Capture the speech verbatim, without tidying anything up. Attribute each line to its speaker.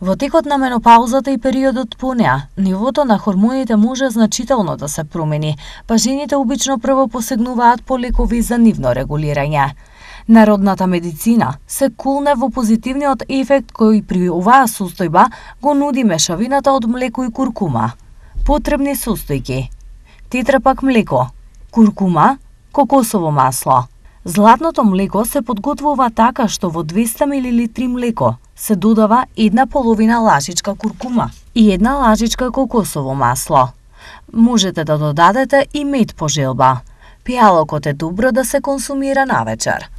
Speaker 1: Во текот на менопаузата и периодот по неа, нивото на хормоните може значително да се промени, па жените обично прво посегнуваат по лекови за нивно регулирање. Народната медицина се кулне во позитивниот ефект кој при оваа состојба го нуди мешавината од млеко и куркума. Потребни состојки: тетрапак млеко, куркума, кокосово масло. Златното млеко се подготвува така што во двесте милилитри млеко се додава една половина лажичка куркума и една лажичка кокосово масло. Можете да додадете и мед по желба. Пијалокот е добро да се консумира навечер.